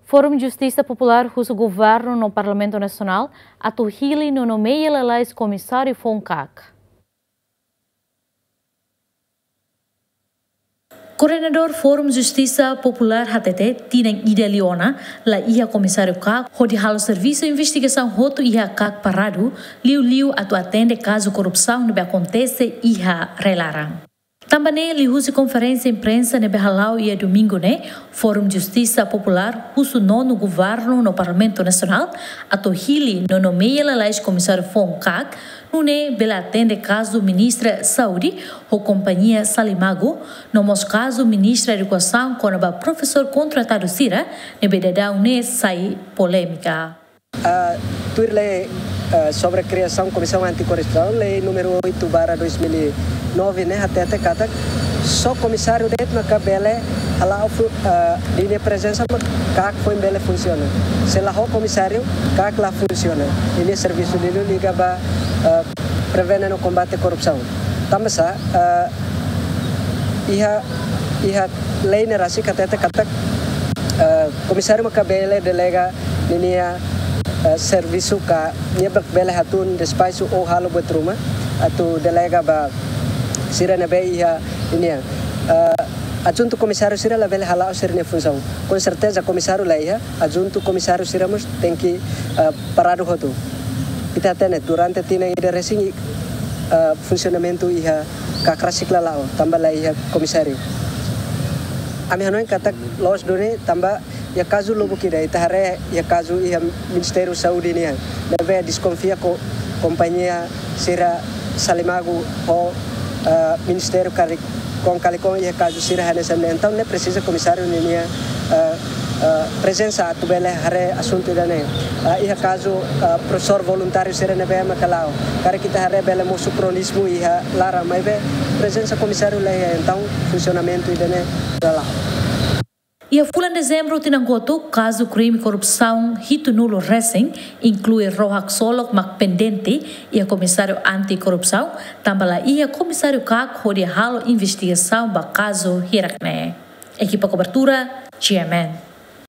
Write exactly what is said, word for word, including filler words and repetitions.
Forum Justisa Populár husu Governu no Parlamentu Nasionál atu hili no nomeia lalais komisáriu foun KAK. Koordenadór Forum Justisa Populár hateten tinan ida liu ona la iha komisáriu KAK hodi halo servisu investigasaun hotu iha KAK paradu, liuliu atu atende kazu korrupsaun ne'ebé akontese iha rai-laran. Tanba ne'e, liuhusi konferénsia imprensa ne'ebé hala'o iha domingu ne'e, Forum Justisa Populár husu nonu Governu no Parlamentu Nasionál atu hili no nomeia lalais komisáriu foun KAK, nune'e bele atende kazu Ministra Saúde ho kompañia Salimagu, no mós kazu Ministra Edukasaun kona-ba profesór kontratadu sira ne'ebé daudaun ne'e sai polémika. Ah, tuir lei, ah, sobre kriasaun Komisaun Antikorrupsaun, lei númeru oito barra dois mil e nove ne'e hateten katak só komisáriu de'it maka bele hala'o fu-, ah, ninia prezensa mak KAK foin bele funsiona. Se la ho komisáriu, KAK la funsiona. Ninia servisu liuliu liga ba, ah, prevene no kombate korrupsaun. Tanba sá, ah, iha, iha lei ne'e rasik hateten katak, ah, komisáriu maka bele delega ninia, eh, servisu ka nia mak bele hatún despaxu ou halo buat ruma atu delega ba sira ne'ebé iha ninia, eh, adjuntu komisáriu sira labele hala'o sira-nia funsaun. Com certeza komisáriu la iha, adjuntu komisáriu sira mós tenke, eh, paradu hotu. Ita hatene durante tinan ida resin, eh, funsionamentu iha KAK rasik la la'o, tanba la iha komisáriu. Ami hanoin katak loos duni tanba iha kazu lubuk ida, ita haree iha kazu iha Ministériu Saúde nian. Ne'ebé deskonfia ho kompañia sira Salimagu ho, eh, Ministériu Karik-, Kalikon iha kazu sira hanesan ne'e. Entaun ne'e presiza komisáriu ninia, eh, eh, prezensa atu bele haree asuntu ida-ne'e. Eh, iha kazu, eh, profesór voluntáriu sira ne'ebé maka la'o. Karik ita haree bele mosu kronizmu iha laran, maibé prezensa komisáriu la iha, entaun funsionamentu ida-ne'e la la'o. Iha fulan Dezembru tinan kotuk, kazu krime korrupsaun hitunulu resin, inklui ró haksolok mak pendente iha Komisáriu Antikorrupsaun, tanba la iha komisáriu KAK hodi halo investigasaun ba kazu hirak ne'e. Ekipa kobertura, G M N.